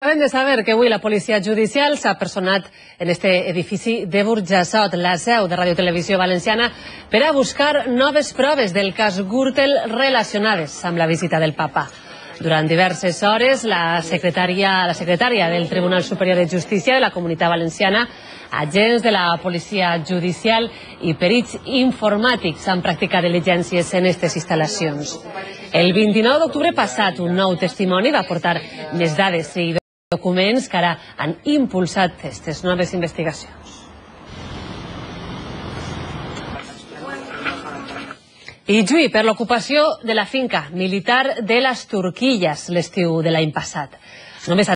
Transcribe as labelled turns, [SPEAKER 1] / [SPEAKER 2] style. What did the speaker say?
[SPEAKER 1] Acabem de saber que avui la policia judicial s'ha personat en este edifici de Burjassot, la seu de Ràdio Televisió Valenciana, per a buscar noves proves del cas Gürtel relacionades amb la visita del papa. Durant diverses hores, la secretària del Tribunal Superior de Justícia de la Comunitat Valenciana, agents de la policia judicial i perits informàtics han practicat diligències en aquestes instal·lacions. El 29 d'octubre passat, un nou testimoni va aportar més dades i documents que ara han impulsat aquestes noves investigacions. I juí per l'ocupació de la finca militar de les Turquilles l'estiu de l'any passat. Només